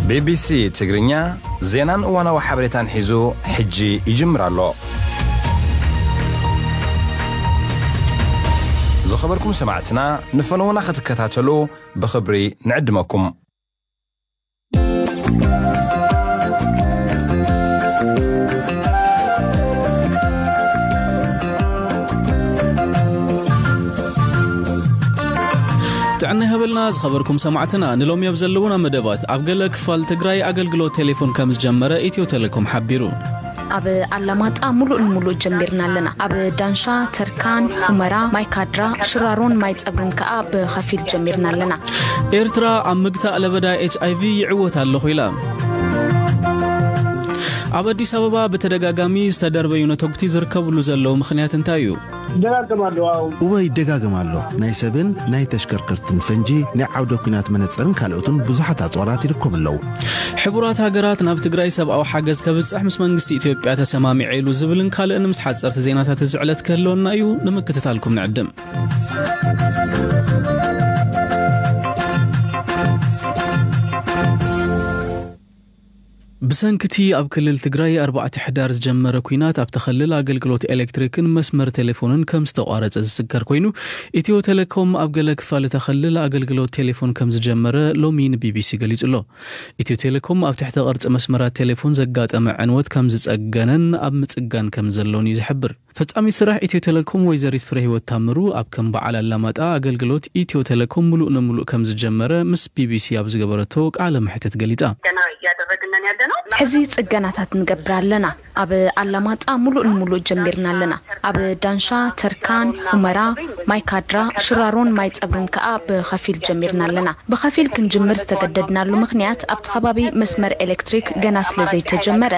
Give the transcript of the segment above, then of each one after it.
ቢ ቢ ሲ ትግርኛ ዜናን እዋናዊ ሓበሬታን ሒዙ ሕጂ ይጅምር ኣሎ። ዝኸበርኩም ሰማዕትና፣ ንፈነውና ክትከታተሉ ብኽብሪ ንዕድመኩም። ጥዕና ይሃበልና ዝኸበርኩም ሰማዕትና፣ ንሎሚ ኣብ ዘለውና መደባት፣ ኣብ ገለ ክፋል ትግራይ ኣገልግሎት ቴሌፎን ከም ዝጀመረ ኢትዮ ቴሌኮም ሓቢሩ። ኣብ ኣላማጣ ሙሉእ ንሙሉእ ጀሚርና ኣለና። ኣብ ዳንሻ፣ ተርካን፣ ሁመራ፣ ማይካድራ፣ ሽራሮን ማይ ጸብርን ከኣ ብኸፊል ጀሚርና ኣለና። ኤርትራ ኣብ ምግታእ ለበዳ ኤች ኣይ ቪ ይዕወት ኣለኹ ኢላ። ኣብ ኣዲስ ኣበባ ብተደጋጋሚ ዝተደርበዩ ነተጉቲ ዝርከብሉ ዘለዉ ምኽንያት እንታይ እዩ? ይደጋገም ኣሎ። ኣዎ። እወ፣ ይደጋገም ኣሎ። ናይ ሰብን ናይ ተሽከርከርትን ፈንጂ፣ ናይ ዓውደ ኲናት መነጽርን ካልኦትን ብዙሓት ኣጽዋራት ይርከቡ ኣለዉ። ሕቡራት ሃገራት ናብ ትግራይ ሰብኣዊ ሓገዝ ከብጽሕ ምስ መንግስቲ ኢትዮጵያ ተሰማሚዐ ኢሉ ዝብልን ካልእን ምስ ሓጸርቲ ዜናታት እዚ ዕለት ክህልወና እዩ። ንምክትታልኩም ንዕድም። ብሰንክቲ ኣብ ክልል ትግራይ ኣርባዕተ ሕዳር ዝጀመረ ኲናት ኣብቲ ክልል ኣገልግሎት ኤሌክትሪክን መስመር ቴሌፎንን ከም ዝተቋረጸ ዝዝከር ኮይኑ፣ ኢትዮ ቴሌኮም ኣብ ገለ ክፋል እታ ክልል ኣገልግሎት ቴሌፎን ከም ዝጀመረ ሎሚ ን ቢ ቢ ሲ ገሊጹ ኣሎ። ኢትዮ ቴሌኮም ኣብ ትሕተ ቅርጺ መስመራት ቴሌፎን ዘጋጠመ ዕንወት ከም ዝጸገነን ኣብ ምጽጋን ከም ዘሎን እዩ ዝሕብር። ፈጻሚት ስራሕ ኢትዮ ቴሌኮም ወይዘሪት ፍሬህይወት ታምሩ ኣብ ከም በዓል ኣላማጣ ኣገልግሎት ኢትዮ ቴሌኮም ምሉእ ንምሉእ ከም ዝጀመረ ምስ ቢ ቢ ሲ ኣብ ዝገበረቶ ቃለ መሕትት ገሊጻ። ገና እያደረግን ነን ያለ ነው። ሕዚ ጽገናታት ንገብር ኣለና። ኣብ ኣላማጣ ምሉእ ንምሉእ ጀሚርና ኣለና። ኣብ ዳንሻ፣ ተርካን፣ ሁመራ፣ ማይካድራ፣ ሽራሮን ማይ ጸብርን ከኣ ብኸፊል ጀሚርና ኣለና። ብኸፊል ክንጅምር ዝተገደድናሉ ምኽንያት ኣብቲ ከባቢ መስመር ኤሌክትሪክ ገና ስለ ዘይተጀመረ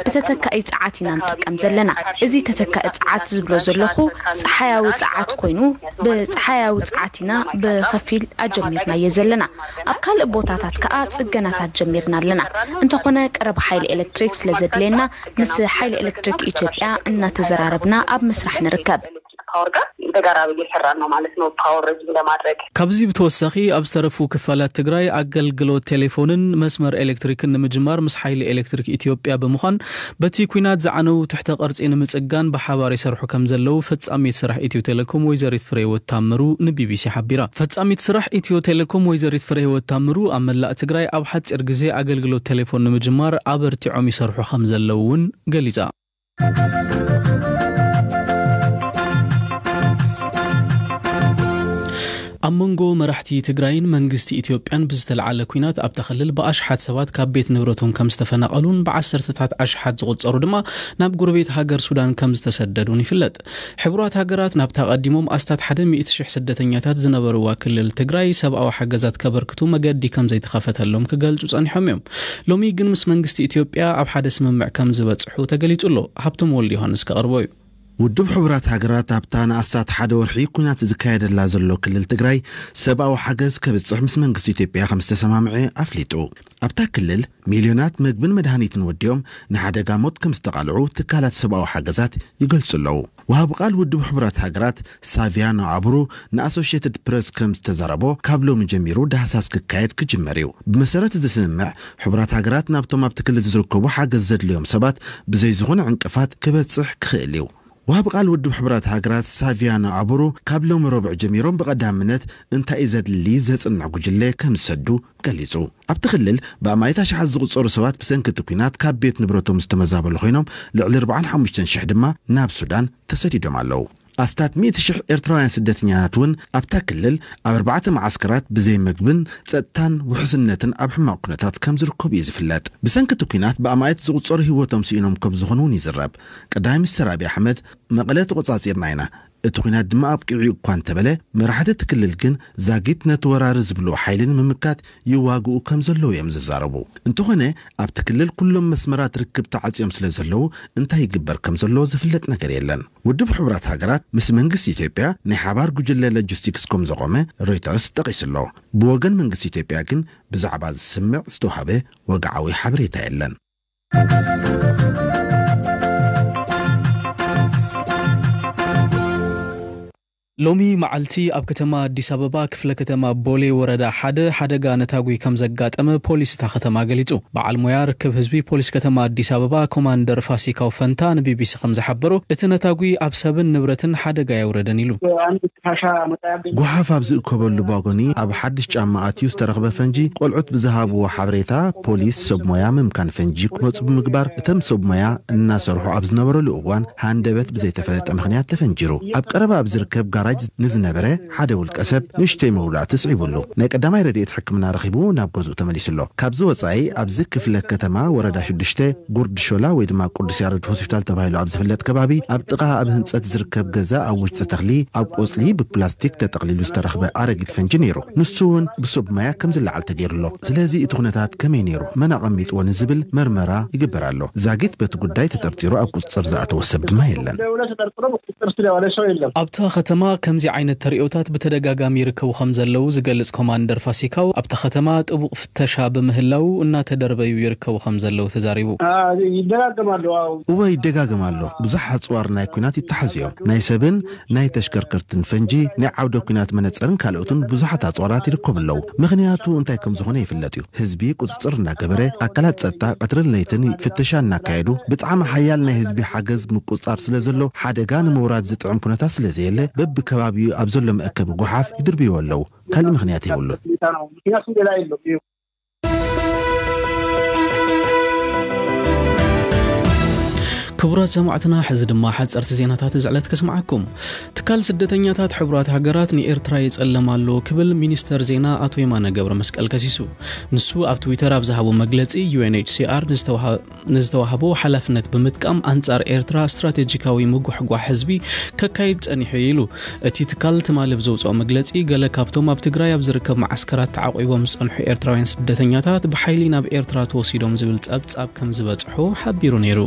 ብተተካኢ ጸዓት ኢና ንጥቀም ዘለና። እዚ ተተካኢ ጸዓት ዝብሎ ዘለኹ ጸሓያዊ ጸዓት ኮይኑ፣ ብጸሓያዊ ጸዓት ኢና ብኸፊል ኣጀሚርናዮ ዘለና። ኣብ ካልእ ቦታታት ከኣ ጽገናታት ጀሚርና ኣለና። እንተኾነ ቀረብ ሓይሊ ኤሌክትሪክ ስለ ዘድልየና ምስ ሓይሊ ኤሌክትሪክ ኢትዮጵያ እናተዘራረብና ኣብ ምስራሕ ንርከብ። ፓወር ጋር በጋራ እየሰራን ነው ማለት ነው። ፓወር ረጅም ለማድረግ። ካብዚ ብተወሳኺ ኣብ ዝተረፉ ክፋላት ትግራይ ኣገልግሎት ቴሌፎንን መስመር ኤሌክትሪክን ንምጅማር ምስ ሓይሊ ኤሌክትሪክ ኢትዮጵያ ብምዃን በቲ ኲናት ዝዓነው ትሕተ ቅርጺ ንምጽጋን ብሓባር ይሰርሑ ከም ዘለዉ ፈጻሚት ስራሕ ኢትዮ ቴሌኮም ወይዘሪት ፍሬህይወት ታምሩ ን ቢ ቢ ሲ ሓቢራ። ፈጻሚት ስራሕ ኢትዮ ቴሌኮም ወይዘሪት ፍሬህይወት ታምሩ ኣብ መላእ ትግራይ ኣብ ሓጺር ግዜ ኣገልግሎት ቴሌፎን ንምጅማር ኣበርቲዖም ይሰርሑ ከም ዘለዉ እውን ገሊጻ። ኣብ መንጎ መራሕቲ ትግራይን መንግስቲ ኢትዮጵያን ብዝተለዓለ ኲናት ኣብታ ክልል ብኣሽሓት ሰባት ካብ ቤት ንብረቶም ከም ዝተፈናቐሉን ብዓሰርተታት ኣሽሓት ዝቑጸሩ ድማ ናብ ጎረቤት ሃገር ሱዳን ከም ዝተሰደዱን ይፍለጥ። ሕቡራት ሃገራት ናብታ ቀዲሞም ኣስታት ሓደ ሚእቲ ሽሕ ስደተኛታት ዝነበርዋ ክልል ትግራይ ሰብኣዊ ሓገዛት ከበርክቱ መገዲ ከም ዘይተኸፈተሎም ክገልጹ ጸኒሖም እዮም። ሎሚ ግን ምስ መንግስቲ ኢትዮጵያ ኣብ ሓደ ስምምዕ ከም ዝበጽሑ ተገሊጹ ኣሎ። ሃብቶም ወልደ ዮሃንስ ከቕርቦ እዩ። ውድብ ሕቡራት ሃገራት ኣብታ ንኣስታት ሓደ ወርሒ ኲናት ዝካየደላ ዘሎ ክልል ትግራይ ሰብኣዊ ሓገዝ ከብጽሕ ምስ መንግስቲ ኢትዮጵያ ከም ዝተሰማምዐ ኣፍሊጡ። ኣብታ ክልል ሚልዮናት መግብን መድሃኒትን ወዲኦም ንሓደጋ ሞት ከም ዝተቓልዑ ትካላት ሰብኣዊ ሓገዛት ይገልጹ ኣለዉ። ወሃቢ ቃል ውድብ ሕቡራት ሃገራት ሳቪያኖ ኣቡሩ ንኣሶሽየትድ ፕረስ ከም ዝተዛረቦ፣ ካብ ሎሚ ጀሚሩ ዳህሳስ ክካየድ ክጅመር እዩ። ብመሰረት እዚ ስምምዕ፣ ሕቡራት ሃገራት ናብቶም ኣብቲ ክልል ዝርከቡ ሓገዝ ዘድልዮም ሰባት ብዘይ ዝኾነ ዕንቅፋት ክበጽሕ ክኽእል እዩ። ወሃቢ ቃል ውድብ ሕቡራት ሃገራት ሳቪያኖ ኣቡሩ ካብ ሎሚ ረቡዕ ጀሚሮም ብቐዳምነት እንታይ እዩ ዘድሊ ዘጽንዕ ጉጅለ ከም ዝሰዱ ገሊጹ። ኣብቲ ክልል ብኣማኢት ኣሽሓት ዝቑጸሩ ሰባት ብሰንኪ እቲ ኲናት ካብ ቤት ንብረቶም ዝተመዛበሉ ኮይኖም፣ ልዕሊ ኣርባዓን ሓሙሽተን ሽሕ ድማ ናብ ሱዳን ተሰዲዶም ኣለዉ። ኣስታት ሚእቲ ሽሕ ኤርትራውያን ስደተኛታት እውን ኣብታ ክልል ኣብ ኣርባዕተ መዓስከራት ብዘይ መግብን ጸጥታን ውሕስነትን ኣብ ሕማቕ ኩነታት ከም ዝርከቡ እዩ ዝፍለጥ። ብሰንኪ እቲ ኲናት ብኣማኢት ዝቑጸሩ ህይወቶም ስኢኖም ከም ዝኾኑ እውን ይዝረብ። ቀዳማይ ሚኒስትር ኣብይ ኣሕመድ፣ መቐለ ተቖጻጺርና ኢና፣ እቲ ኲናት ድማ ኣብቂዑ እኳ እንተበለ፣ መራሕቲ እቲ ክልል ግን ዛጊት ነቲ ወራሪ ዝብልዎ ሓይሊ ንምምካት ይዋግኡ ከም ዘለዉ እዮም ዝዛረቡ። እንተኾነ፣ ኣብቲ ክልል ኩሎም መስመራት ርክብ ተዓጽዮም ስለ ዘለዉ፣ እንታይ ይግበር ከም ዘሎ ዝፍለጥ ነገር የለን። ውድብ ሕቡራት ሃገራት ምስ መንግስቲ ኢትዮጵያ ናይ ሓባር ጉጅለ ሎጂስቲክስ ከም ዘቖመ ሮይተርስ ጠቒሱ ኣሎ። ብወገን መንግስቲ ኢትዮጵያ ግን ብዛዕባ እዚ ስምምዕ ዝተዋህበ ወግዓዊ ሓበሬታ የለን። ሎሚ መዓልቲ ኣብ ከተማ ኣዲስ ኣበባ ክፍለ ከተማ ቦሌ ወረዳ ሓደ ሓደጋ ነታጒ ከም ዘጋጠመ ፖሊስ እታ ከተማ ገሊጹ። በዓል ሞያ ርክብ ህዝቢ ፖሊስ ከተማ ኣዲስ ኣበባ ኮማንደር ፋሲካው ፈንታ ንቢቢሲ ከም ዝሓበሮ፣ እቲ ነታጒ ኣብ ሰብን ንብረትን ሓደጋ ኣየውረደን ኢሉ። ጎሓፍ ኣብ ዝእከበሉ ባጎኒ ኣብ ሓድሽ ጫማ ኣትዩ ዝተረኽበ ፈንጂ፣ ቆልዑት ብዝሃብዎ ሓበሬታ ፖሊስ ሰብ ሞያ ምምካን ፈንጂ ክመፁ ብምግባር፣ እቶም ሰብ ሞያ እናሰርሑ ኣብ ዝነበረሉ እዋን ሃንደበት ብዘይተፈለጠ ምኽንያት ተፈንጂሩ ኣብ ቀረባ ኣብ ዝርከብ ጋራጅ ንዝነበረ ሓደ ውልቀ ሰብ ንእሽተይ መውዳእቲ ስዒቡሉ፣ ናይ ቀዳማይ ረድኤት ሕክምና ረኺቡ ናብ ገዝኡ ተመሊሱ ኣሎ። ካብዚ ወፃኢ ኣብዚ ክፍለ ከተማ ወረዳ ሽዱሽተ ጉርድ ሾላ ወይ ድማ ቅዱስ ያሬድ ሆስፒታል ተባሂሉ ኣብ ዝፍለጥ ከባቢ ኣብ ጥቓ ኣብ ህንፀት ዝርከብ ገዛ ኣብ ውሽጢ ተኽሊ ኣብ ቆፅሊ ብፕላስቲክ ተጠቕሊሉ ዝተረኽበ ኣረጊት ፈንጂ ነይሩ። ንሱ እውን ብሰብ ሞያ ከም ዝለዓል ተገይሩ ኣሎ። ስለዚ እቲ ኩነታት ከመይ ነይሩ፣ መን ኣቐሚጥዎ ንዝብል መርመራ ይግበር ኣሎ። ዛጊት በቲ ጉዳይ ተጠርጢሩ ኣብ ቁፅፅር ዝኣተወ ሰብ ድማ የለን። ኣብታ ከተማ ከምዚ ዓይነት ተርእዮታት ብተደጋጋሚ ይርከቡ ከም ዘለዉ ዝገልጽ ኮማንደር ፋሲካው፣ ኣብታ ከተማ ጥቡቕ ፍተሻ ብምህላዉ እናተደርበዩ ይርከቡ ከም ዘለዉ ተዛሪቡ። ይደጋገም ኣሎ። እወ፣ ይደጋገም ኣሎ። ብዙሕ ኣጽዋር ናይ ኲናት ይተሓዙ እዮም። ናይ ሰብን ናይ ተሽከርከርትን ፈንጂ፣ ናይ ዓውደ ኲናት መነጸርን ካልኦትን ብዙሓት ኣጽዋራት ይርከቡ ኣለዉ። ምኽንያቱ እንታይ ከም ዝኾነ ይፍለጥ እዩ። ህዝቢ ቁጽጽር እናገበረ፣ ኣካላት ጸጥታ ቀትርን ለይትን ፍተሻ እናካየዱ፣ ብጣዕሚ ሓያል ናይ ህዝቢ ሓገዝ ምቁጽጻር ስለ ዘሎ፣ ሓደጋ ንምውራድ ዝጥዕም ኩነታት ስለ ዘየለ፣ በብከባቢኡ ኣብ ዘሎ መእከቢ ጎሓፍ ይድርብይዎ ኣለዉ። ካልእ ምኽንያት የብሉን። ክቡራት ሰማዕትና፣ ሕዚ ድማ ሓጸርቲ ዜናታት እዚ ዕለት ከስምዓኩም። ትካል ስደተኛታት ሕቡራት ሃገራት ንኤርትራ ይጸለም ኣሎ ክብል ሚኒስተር ዜና ኣቶ የማነ ገብረ መስቀል ከሲሱ። ንሱ ኣብ ትዊተር ኣብ ዝሃቦ መግለጺ፣ ዩ ኤን ኤች ሲ ኣር ንዝተዋሃ-፣ ንዝተዋህቦ ሓላፍነት ብምጥቃም ኣንጻር ኤርትራ ስትራቴጂካዊ ምጉሕጓሕ ህዝቢ ከካይድ ጸኒሑ ኢሉ። እቲ ትካል ትማሊ ብዘውጽኦ መግለጺ፣ ገለ ካብቶም ኣብ ትግራይ ኣብ ዝርከብ መዓስከራት ተዓቂቦም ዝጸንሑ ኤርትራውያን ስደተኛታት ብሓይሊ ናብ ኤርትራ ተወሲዶም ዝብል ጸብጻብ ከም ዝበጽሖ ሓቢሩ ነይሩ።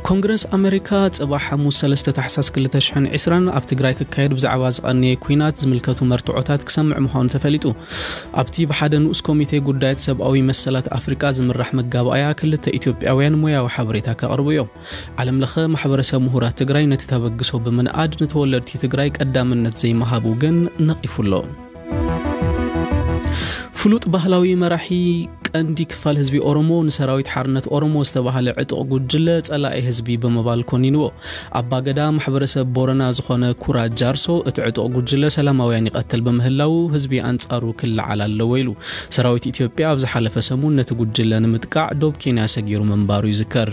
ኮንግረስ ኣመሪካ ጽባሕ ሓሙስ ሰለስተ ታሕሳስ ክልተ ሽሕን ዕስራን ኣብ ትግራይ ክካየድ ብዛዕባ ዝቐነየ ኲናት ዝምልከቱ መርትዖታት ክሰምዕ ምዃኑ ተፈሊጡ። ኣብቲ ብሓደ ንኡስ ኮሚቴ ጉዳያት ሰብኣዊ መሰላት ኣፍሪቃ ዝምራሕ መጋባእያ ክልተ ኢትዮጵያውያን ሞያዊ ሓበሬታ ከቕርቡ እዮም። ዓለም ለኸ ማሕበረሰብ ምሁራት ትግራይ ነቲ ተበግሶ ብምንኣድ ንተወለድቲ ትግራይ ቀዳምነት ዘይምሃቡ ግን ነቒፉ ኣሎ። ፍሉጥ ባህላዊ መራሒ ቀንዲ ክፋል ህዝቢ ኦሮሞ ንሰራዊት ሓርነት ኦሮሞ ዝተባህለ ዕጡቕ ጉጅለ ጸላኢ ህዝቢ ብምባል ኮኒንዎ። ኣባገዳ ማሕበረሰብ ቦረና ዝኾነ ኩራ ጃርሶ እቲ ዕጡቕ ጉጅለ ሰላማውያን ይቐትል ብምህላዉ ህዝቢ ኣንጻሩ ክለዓል ኣለዎ ኢሉ። ሰራዊት ኢትዮጵያ ኣብ ዝሓለፈ ሰሙን ነቲ ጉጅለ ንምጥቃዕ ዶብ ኬንያ ሰጊሩ ምንባሩ ይዝከር።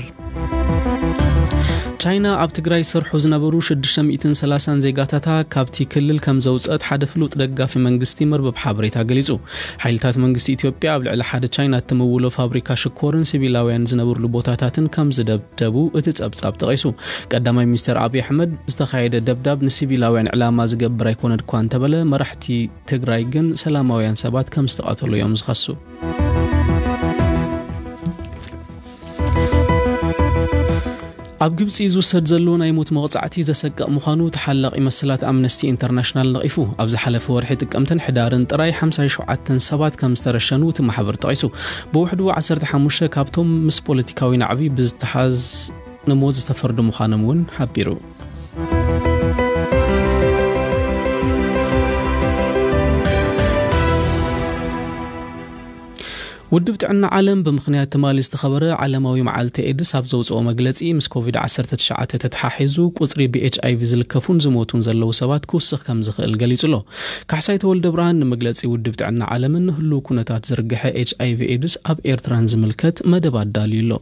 ቻይና ኣብ ትግራይ ዝሰርሑ ዝነበሩ ሽዱሽተ ሚእትን ሰላሳን ዜጋታታ ካብቲ ክልል ከም ዘውፀት ሓደ ፍሉጥ ደጋፊ መንግስቲ መርበብ ሓበሬታ ገሊፁ። ሓይልታት መንግስቲ ኢትዮጵያ ኣብ ልዕሊ ሓደ ቻይና እትምውሎ ፋብሪካ ሽኮርን ሲቪላውያን ዝነብርሉ ቦታታትን ከም ዝደብደቡ እቲ ጸብጻብ ጠቒሱ። ቀዳማይ ሚኒስተር ኣብይ ኣሕመድ ዝተኻየደ ደብዳብ ንሲቪላውያን ዕላማ ዝገብር ኣይኮነን እኳ እንተበለ፣ መራሕቲ ትግራይ ግን ሰላማውያን ሰባት ከም ዝተቐተሉ እዮም ዝኸሱ። ኣብ ግብጺ ዝውሰድ ዘሎ ናይ ሞት መቕጻዕቲ ዘሰቅቕ ምዃኑ ተሓላቒ መሰላት ኣምነስቲ ኢንተርናሽናል ነቒፉ። ኣብ ዝሓለፈ ወርሒ ጥቅምትን ሕዳርን ጥራይ ሓምሳ ሸውዓተ ሰባት ከም ዝተረሸኑ እቲ ማሕበር ጠቒሱ። ብውሕዱ ዓሰርተ ሓሙሽተ ካብቶም ምስ ፖለቲካዊ ናዕቢ ብዝተሓዝ ንሞት ዝተፈርዱ ምዃኖም እውን ሓቢሩ። ውድብ ጥዕና ዓለም ብምኽንያት ትማሊ ዝተኸበረ ዓለማዊ መዓልቲ ኤድስ ኣብ ዘውፅኦ መግለፂ፣ ምስ ኮቪድ ዓሰርተ ትሽዓተ ተተሓሒዙ ቁፅሪ ብኤች ኣይ ቪ ዝልከፉን ዝሞቱን ዘለዉ ሰባት ክውስኽ ከም ዝኽእል ገሊጹ ኣሎ። ካሕሳይ ተወልደ ብርሃን ንመግለፂ ውድብ ጥዕና ዓለምን ንህልው ኩነታት ዝርግሐ ኤች ኣይ ቪ ኤድስ ኣብ ኤርትራን ዝምልከት መደብ ኣዳልዩ ኣሎ።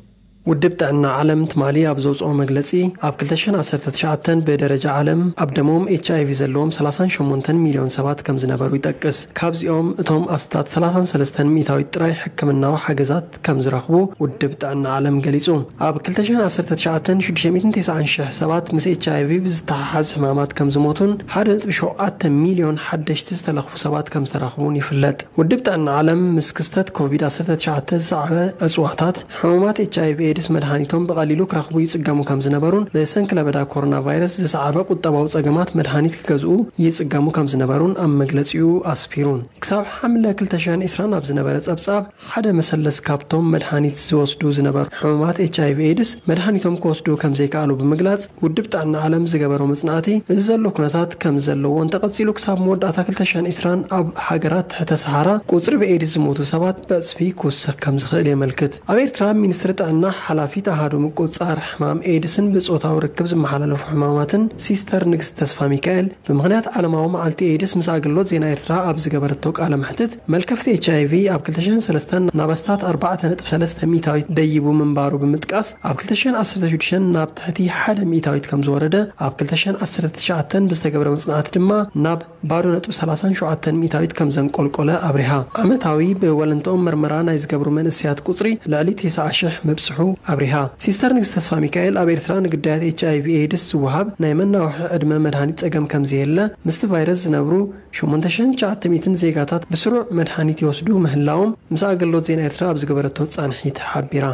ውድብ ጥዕና ዓለም ትማሊ ኣብ ዘውፅኦ መግለፂ፣ ኣብ ክልተ ሽሕን ዓሰርተ ትሽዓተን ብደረጃ ዓለም ኣብ ደሞም ኤች ኣይ ቪ ዘለዎም ሰላሳን ሸሞንተን ሚልዮን ሰባት ከም ዝነበሩ ይጠቅስ። ካብዚኦም እቶም ኣስታት ሰላሳን ሰለስተን ሚእታዊት ጥራይ ሕክምናዊ ሓገዛት ከም ዝረኽቡ ውድብ ጥዕና ዓለም ገሊጹ። ኣብ ክልተ ሽሕን ዓሰርተ ትሽዓተን ሽዱሽተ ሚእትን ተስዓን ሽሕ ሰባት ምስ ኤች ኣይ ቪ ብዝተሓሓዝ ሕማማት ከም ዝሞቱን ሓደ ነጥቢ ሸውዓተ ሚልዮን ሓደሽቲ ዝተለኽፉ ሰባት ከም ዝተረኽቡን ይፍለጥ። ውድብ ጥዕና ዓለም ምስ ክስተት ኮቪድ ዓሰርተ ትሽዓተ ዝሰዓበ ዕጽዋታት ሕሙማት ኤች ኣይ ቪ ኤድስ መድሃኒቶም ብቐሊሉ ክረኽቡ ይጽገሙ ከም ዝነበሩን፣ ብሰንኪ ለበዳ ኮሮና ቫይረስ ዝሰዓበ ቁጠባዊ ጸገማት መድሃኒት ክገዝኡ ይጽገሙ ከም ዝነበሩን ኣብ መግለጺኡ ኣስፊሩን። ክሳብ ሓምለ ክልተ ሽሕን ዕስራን ኣብ ዝነበረ ጸብጻብ፣ ሓደ መሰለስ ካብቶም መድሃኒት ዝወስዱ ዝነበሩ ሕሙማት ኤች ኣይ ቪ ኤድስ መድሃኒቶም ክወስዱ ከም ዘይከኣሉ ብምግላጽ፣ ውድብ ጥዕና ዓለም ዝገበሮ መጽናዕቲ፣ እዚ ዘሎ ኩነታት ከም ዘለዎ እንተቐጺሉ፣ ክሳብ መወዳእታ ክልተ ሽሕን ዕስራን ኣብ ሃገራት ትሕተ ሰሃራ ቁጽሪ ብኤድስ ዝሞቱ ሰባት ብዕጽፊ ክውስኽ ከም ዝኽእል የመልክት። ኣብ ኤርትራ ሚኒስትሪ ጥዕና ሓላፊት ኣሃዱ ምቁጽጻር ሕማም ኤድስን ብጾታዊ ርክብ ዝመሓላለፉ ሕማማትን ሲስተር ንግስቲ ተስፋ ሚካኤል፣ ብምኽንያት ዓለማዊ መዓልቲ ኤድስ ምስ ኣገልግሎት ዜና ኤርትራ ኣብ ዝገበረቶ ቃለ መሕትት፣ መልከፍቲ ኤች ኣይ ቪ ኣብ ክልተ ሽሕን ሰለስተን ናብ ኣስታት ኣርባዕተ ነጥቢ ሰለስተ ሚእታዊት ደይቡ ምንባሩ ብምጥቃስ፣ ኣብ ክልተ ሽሕን ዓሰርተ ሽዱሽተን ናብ ትሕቲ ሓደ ሚእታዊት ከም ዝወረደ፣ ኣብ ክልተ ሽሕን ዓሰርተ ትሽዓተን ብዝተገብረ መጽናዕቲ ድማ ናብ ባዶ ነጥቢ ሰላሳን ሸውዓተን ሚእታዊት ከም ዘንቆልቆለ ኣብሪሃ። ዓመታዊ ብወለንትኦም መርመራ ናይ ዝገብሩ መንእሰያት ቁጽሪ ልዕሊ ተስዓ ሽሕ ምብጽሑ ኣብሪሃ። ሲስተር ንግስቲ ተስፋ ሚካኤል፣ ኣብ ኤርትራ ንግዳያት ኤች ኣይ ቪ ኤድስ ዝወሃብ ናይ መናውሒ ዕድመ መድሃኒት ጸገም ከም ዘየለ፣ ምስቲ ቫይረስ ዝነብሩ ሸሞንተ ሽሕን ትሽዓተ ሚእትን ዜጋታት ብስሩዕ መድሃኒት ይወስዱ ምህላዎም ምስ ኣገልግሎት ዜና ኤርትራ ኣብ ዝገበረቶ ጻንሒት ሓቢራ።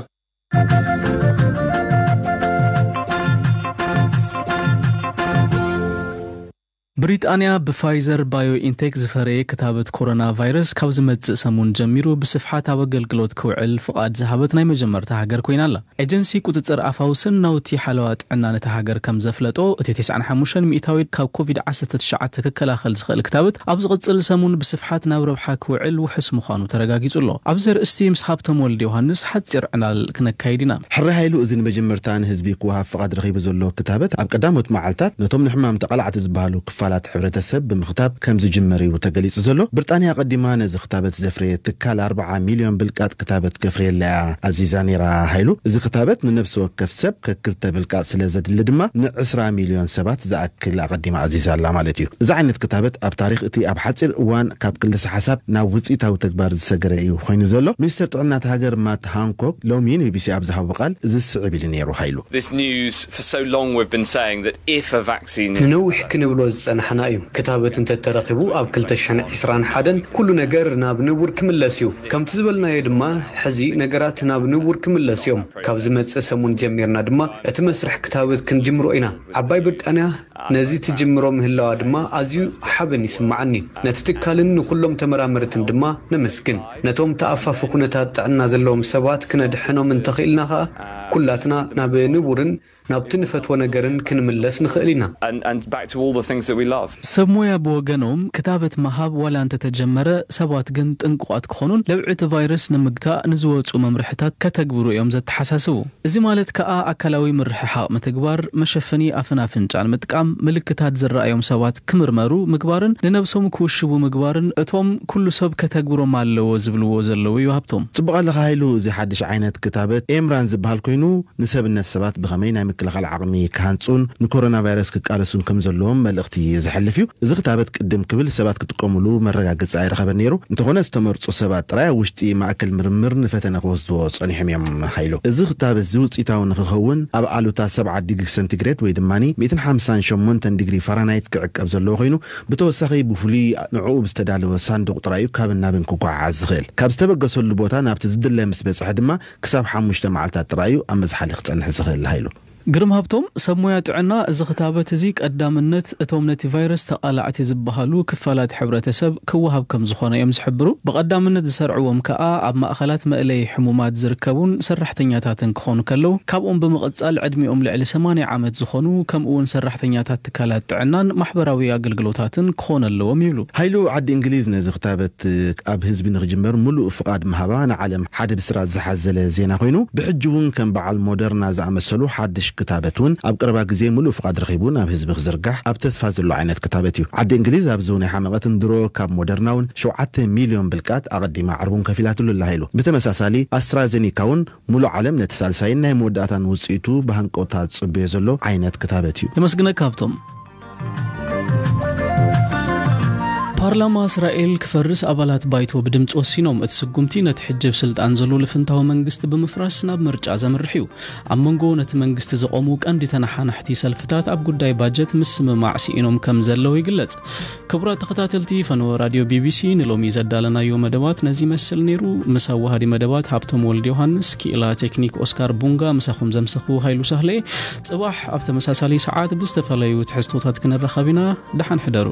ብሪጣንያ ብፋይዘር ባዮኢንቴክ ዝፈረየ ክታበት ኮሮና ቫይረስ ካብ ዝመጽእ ሰሙን ጀሚሩ ብስፍሓት ኣብ ኣገልግሎት ክውዕል ፍቓድ ዝሃበት ናይ መጀመርታ ሃገር ኮይና ኣላ። ኤጀንሲ ቁጽጽር ኣፋውስን ናውቲ ሓለዋ ጥዕና ነታ ሃገር ከም ዘፍለጦ፣ እቲ ተስዓን ሓሙሽተን ሚእታዊት ካብ ኮቪድ ዓሰርተ ትሽዓተ ክከላኸል ዝኽእል ክታበት ኣብ ዝቕጽል ሰሙን ብስፍሓት ናብ ረብሓ ክውዕል ውሑስ ምዃኑ ተረጋጊጹ ኣሎ። ኣብዚ ኣርእስቲ ምስ ሃብቶም ወልደ ዮሃንስ ሓጺር ዕላል ክነካይድ ኢና። ሕራይ ሃይሉ፣ እዚ ንመጀመርታ ንህዝቢ ክወሃብ ፍቓድ ረኺቡ ዘሎ ክታበት፣ ኣብ ቀዳሞት መዓልታት ነቶም ንሕማም ተቓላዕቲ ዝበሃሉ ክፋላት ሕብረተሰብ ብምኽታብ ከም ዝጅመር እዩ ተገሊጹ ዘሎ። ብሪጣንያ ኣቐዲማ ነዚ ክታበት ዘፍረየ ትካል ኣርብዓ ሚልዮን ብልቃጥ ክታበት ከፍርየላ እያ ኣዚዛ ነይራ። ሃይሉ፣ እዚ ክታበት ንነብሲ ወከፍ ሰብ ከክልተ ብልቃጥ ስለ ዘድሊ ድማ ንዕስራ ሚልዮን ሰባት ዝኣክል ኣቐዲማ ኣዚዛ ኣላ ማለት እዩ። እዚ ዓይነት ክታበት ኣብ ታሪኽ እቲ ኣብ ሓጺር እዋን ካብ ክልሰ ሓሳብ ናብ ውጽኢታዊ ተግባር ዝሰገረ እዩ ኮይኑ ዘሎ። ሚኒስተር ጥዕና እቲ ሃገር ማት ሃንኮክ ሎሚ ንቢቢሲ ኣብ ዝሃቦ ቃል እዚ ስዕብ ኢሉ ነይሩ። ሃይሉ፣ This news, for so long we've been saying that if a vaccine is ንነዊሕ ክንብሎ ዝጸናሕና እዩ። ክታበት እንተተረኺቡ ኣብ ክልተ ሽሕን ዕስራን ሓደን ኩሉ ነገር ናብ ንቡር ክምለስ እዩ። ከምቲ ዝበልናዮ ድማ፣ ሕዚ ነገራት ናብ ንቡር ክምለስ እዮም። ካብ ዝመጽእ ሰሙን ጀሚርና ድማ እቲ መስርሕ ክታበት ክንጅምሮ ኢና። ዓባይ ብሪጣንያ ነዚ ትጅምሮ ምህላዋ ድማ ኣዝዩ ሓበን ይስምዓኒ። ነቲ ትካልን ንኹሎም ተመራመርትን ድማ ነመስግን። ነቶም ተኣፋፊ ኩነታት ጥዕና ዘለዎም ሰባት ክነድሕኖም እንተኽኢልና ኸኣ፣ ኩላትና ናብ ንቡርን ናብቲ ንፈትዎ ነገርን ክንምለስ ንኽእል ኢና። And, and back to all the things that we love. ሰብ ሞያ ብወገኖም፣ ክታበት ምሃብ ዋላ እንተተጀመረ፣ ሰባት ግን ጥንቁቓት ክኾኑን ለብዒ እቲ ቫይረስ ንምግታእ ንዝወጹ መምርሕታት ከተግብሩ እዮም ዘተሓሳስቡ። እዚ ማለት ከኣ ኣካላዊ ምርሕሓቕ ምትግባር፣ መሸፈኒ ኣፍን ኣፍንጫን ምጥቃም፣ ምልክታት ዝረኣዮም ሰባት ክምርመሩ ምግባርን ንነብሶም ክውሽቡ ምግባርን እቶም ኩሉ ሰብ ከተግብሮም ኣለዎ ዝብልዎ ዘለዉ እዩ ሃብቶም። ጽቡቕ ኣለኻ ሃይሉ፣ እዚ ሓድሽ ዓይነት ክታበት ኤምራን ዝበሃል ኮይኑ፣ ንሰብነት ሰባት ብኸመይ ናይ ምክልኻል ዓቕሚ ክሃንጹን ንኮሮና ቫይረስ ክቃለሱን ከም ዘለዎም መልእኽቲ ዘሕልፍ እዩ። እዚ ክታበት ቅድም ክብል ሰባት ክጥቀሙሉ መረጋገጺ ኣይረኸበን ነይሩ። እንተኾነ ዝተመርጹ ሰባት ጥራይ ኣብ ውሽጢ ማእከል ምርምር ንፈተነ ክወስድዎ ጸኒሖም እዮም። ሃይሉ፣ እዚ ክታበት እዚ ውጽኢታዊ ንክኸውን ኣብ ኣሉታ ሰብዓ ዲግሪ ሰንቲግሬድ ወይ ድማ ሚእትን ሓምሳን ሸሞንተን ዲግሪ ፋራናይት ክዕቀብ ዘለዎ ኮይኑ፣ ብተወሳኺ ብፍሉይ ንዕኡ ብዝተዳለወ ሳንዱቕ ጥራይ እዩ ካብን ናብን ክጓዓዓዝ ዝኽእል። ካብ ዝተበገሰሉ ቦታ ናብቲ ዝድለ ምስ በጽሐ ድማ ክሳብ ሓሙሽተ መዓልታት ጥራይ እዩ ኣብ መዝሓሊ ክጸንሕ ዝኽእል። ሃይሉ፣ ግርም ሃብቶም፣ ሰብ ሞያ ጥዕና፣ እዚ ክታበት እዚ ቀዳምነት እቶም ነቲ ቫይረስ ተቓላዕቲ ዝበሃሉ ክፋላት ሕብረተሰብ ክወሃብ ከም ዝኾነ እዮም ዝሕብሩ። ብቐዳምነት ዝሰርዕዎም ከኣ ኣብ ማእኸላት መእለዪ ሕሙማት ዝርከቡን ሰራሕተኛታትን ክኾኑ ከለዉ፣ ካብኦም ብምቕጻል ዕድሚኦም ልዕሊ ሰማንያ ዓመት ዝኾኑ፣ ከምኡ እውን ሰራሕተኛታት ትካላት ጥዕናን ማሕበራዊ ኣገልግሎታትን ክኾኑ ኣለዎም ይብሉ። ሃይሉ፣ ዓዲ እንግሊዝ ነዚ ክታበት ኣብ ህዝቢ ንክጅመር ምሉእ ፍቓድ ምሃባ ንዓለም ሓደ ብስራት ዝሓዘለ ዜና ኮይኑ፣ ብሕጂ እውን ከም በዓል ሞደርና ዝኣመሰሉ ሓድሽ ክታበት እውን ኣብ ቀረባ ግዜ ምሉእ ፍቓድ ረኺቡ ናብ ህዝቢ ክዝርጋሕ ኣብ ተስፋ ዘሎ ዓይነት ክታበት እዩ። ዓዲ እንግሊዝ ኣብዚ ናይ ሓመቐትን ድሮ ካብ ሞደርና እውን ሸውዓተ ሚልዮን ብልቃጥ ኣቐዲማ ዕርቡን ከፊላትሉ ኣላ። ሃይሉ፣ ብተመሳሳሊ ኣስትራዜኒካ እውን ምሉእ ዓለም ነቲ ሳልሳይን ናይ መወዳእታን ውጽኢቱ ብሃንቀውታ ዝጽበዮ ዘሎ ዓይነት ክታበት እዩ። የመስግነካ ሃብቶም። ፓርላማ እስራኤል ክፈርስ ኣባላት ባይቶ ብድምፂ ወሲኖም። እቲ ስጉምቲ ነቲ ሕጂ ኣብ ስልጣን ዘሎ ልፍንታዊ መንግስቲ ብምፍራስ ናብ ምርጫ ዘምርሕ እዩ። ኣብ መንጎ ነቲ መንግስቲ ዘቆሙ ቀንዲ ተነሓናሕቲ ሰልፍታት ኣብ ጉዳይ ባጀት ምስምማዕ ስኢኖም ከም ዘለዉ ይግለጽ። ክቡራት ተኸታተልቲ ፈነወ ራድዮ ቢቢሲ፣ ንሎሚ ዘዳለናዮ መደባት ነዚ ይመስል ነይሩ። ምስ ኣዋሃዲ መደባት ሃብቶም ወልድ ዮሃንስ፣ ክኢላ ቴክኒክ ኦስካር ቡንጋ፣ ምሳኹም ዘምሰኹ ሃይሉ ሳህለ። ጽባሕ ኣብ ተመሳሳሊ ሰዓት ብዝተፈላለዩ ትሕዝቶታት ክንራኸብ ኢና። ደሓን ሕደሩ።